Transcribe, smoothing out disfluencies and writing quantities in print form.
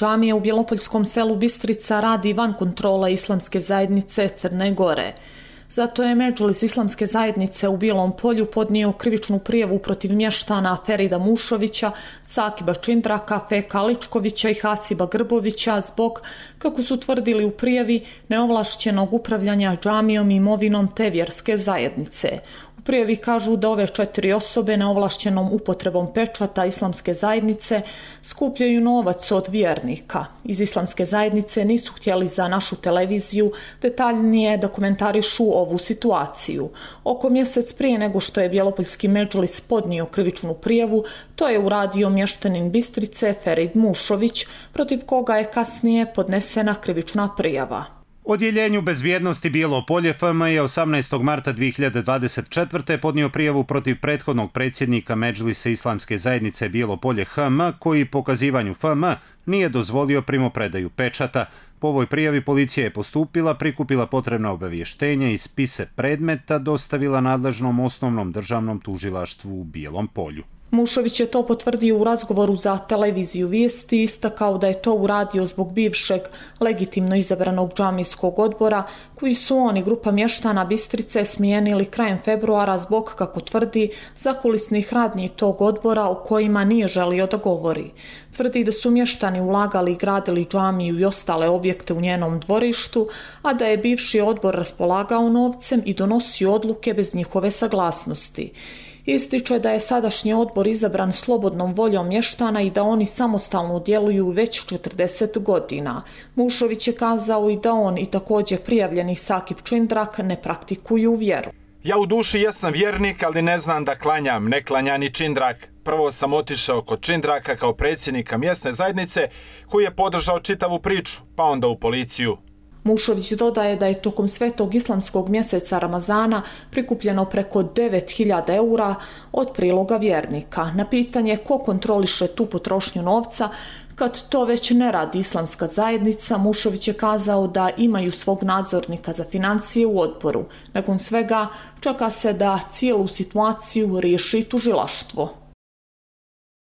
Džamija u bjelopoljskom selu Bistrica radi van kontrole Islamske zajednice Crne Gore. Zato je Medžlis Islamske zajednice u Bijelom Polju podnio krivičnu prijavu protiv mještana Ferida Mušovića, Sakiba Čindraka, Feka Ličkovića i Hasiba Grbovića zbog, kako su tvrdili u prijavi, neovlašćenog upravljanja džamijom i imovinom te vjerske zajednice. U prijavi kažu da ove 4 osobe neovlašćenom upotrebom pečata Islamske zajednice skupljaju novac od vjernika. Iz Islamske zajednice nisu htjeli za našu televiziju detaljnije da komentarišu ovu situaciju. Oko mjesec prije nego što je Bjelopoljski Medžlis podnio krivičnu prijavu, to je uradio mještanin Bistrice Ferid Mušović, protiv koga je kasnije podnesena krivična prijava. Odjeljenju bezbjednosti Bijelo Polje FM je 18. marta 2024. podnio prijavu protiv prethodnog predsjednika Medžlisa Islamske zajednice Bijelo Polje HM, koji pokazivanju FM nije dozvolio primopredaju pečata. Po ovoj prijavi policija je postupila, prikupila potrebna obavještenja i spise predmeta dostavila nadležnom osnovnom državnom tužilaštvu u Bijelom Polju. Mušović je to potvrdio u razgovoru za televiziju Vijesti i istakao da je to uradio zbog bivšeg legitimno izabranog džamijskog odbora koji su on i grupa mještana Bistrice smijenili krajem februara zbog, kako tvrdi, zakulisnih radnji tog odbora o kojima nije želio da govori. Tvrdi da su mještani ulagali i gradili džamiju i ostale objekte u njenom dvorištu, a da je bivši odbor raspolagao novcem i donosio odluke bez njihove saglasnosti. Ističe da je sadašnji odbor izabran slobodnom voljom mještana i da oni samostalno djeluju već 40 godina. Mušović je kazao i da on i također prijavljeni Sakib Čindrak ne praktikuju vjeru. Ja u duši jesam vjernik, ali ne znam da klanjam, ne klanja ni Čindrak. Prvo sam otišao kod Čindraka kao predsjednika mjesne zajednice koji je podržao čitavu priču, pa onda u policiju. Mušović dodaje da je tokom svetog islamskog mjeseca Ramazana prikupljeno preko 9.000 eura od priloga vjernika. Na pitanje ko kontroliše tu potrošnju novca, kad to već ne radi Islamska zajednica, Mušović je kazao da imaju svog nadzornika za financije u odboru. Nakon svega čeka se da cijelu situaciju riješi tužilaštvo.